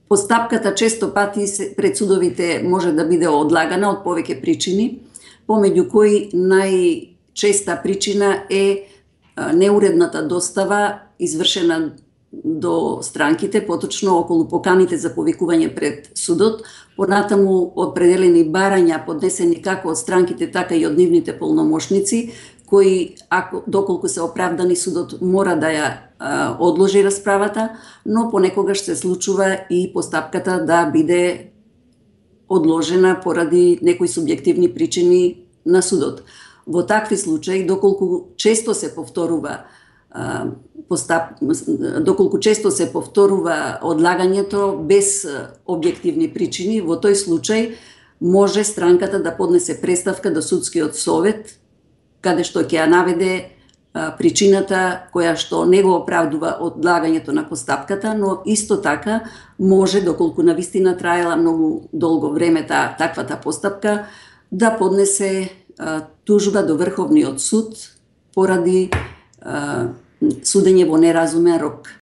Постапката често пати пред судовите може да биде одлагана од повеќе причини, помеѓу кои најчеста причина е неуредната достава извршена до странките, поточно околу поканите за повикување пред судот, понатаму определени барања поднесени како од странките, така и од нивните полномошници, кои, доколку се оправдани, судот мора да ја одложи расправата, но понекогаш се случува и постапката да биде одложена поради некои субјективни причини на судот. Во такви случаи, доколку често се повторува одлагањето без објективни причини, во тој случај може странката да поднесе преставка до судскиот совет, каде што ќе ја наведе причината која што не го оправдува одлагањето на постапката, но исто така може, доколку навистина траела многу долго време таквата постапка, да поднесе тужба до Врховниот суд поради судење во неразумен рок.